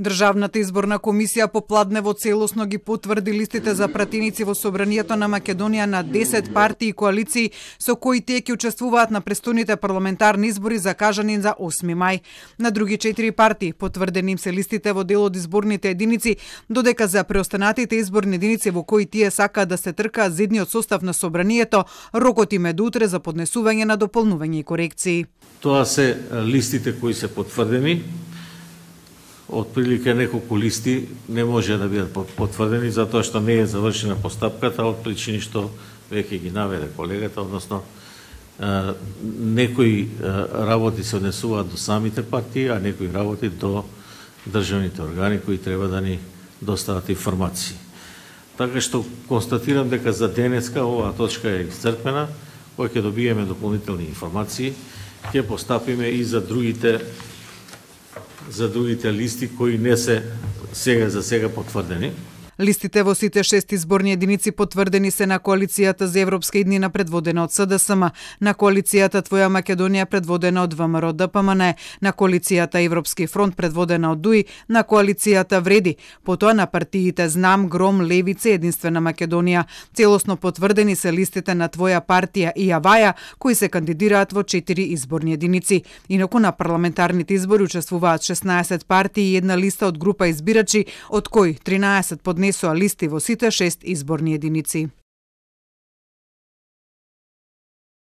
Државната изборна комисија попладнево целосно ги потврди листите за пратеници во Собранието на Македонија на 10 партии и коалиции со кои тие ќе учествуваат на престојните парламентарни избори закажани за 8 мај. На други 4 партии потврдени им се листите во дел од изборните единици, додека за преостанатите изборни единици во кои тие сакаат да се тркаат за идниот состав на Собранието, рокот им е до утре за поднесување на дополнување и корекции. Тоа се листите кои се потврдени. Отприлика неколку листи не може да бидат потврдени затоа што не е завршена постапката од причини што веќе ги наведе колегата, односно некои работи се однесуваат до самите партии, а некои работи до државните органи кои треба да ни достават информации. Така што констатирам дека за денеска оваа точка е исцрпена, кога ќе добиеме дополнителни информации, ќе постапиме и за другите листи кои не се за сега потврдени. Листите во сите 6 изборни единици потврдени се на коалицијата за европска иднина предводена од СДСМ, на коалицијата Твоја Македонија предводена од ВМРО ДПМН, на коалицијата Европски фронт предводена од ДУИ, на коалицијата Вреди, потоа на партиите Знам, Гром, Левица и Единствена Македонија. Целосно потврдени се листите на Твоја партија и Аваја, кои се кандидираат во 4 изборни единици. Инаку на парламентарните избори учествуваат 16 партии и една листа од група избирачи, од кои 13 поднесоа листи во сите 6 изборни единици.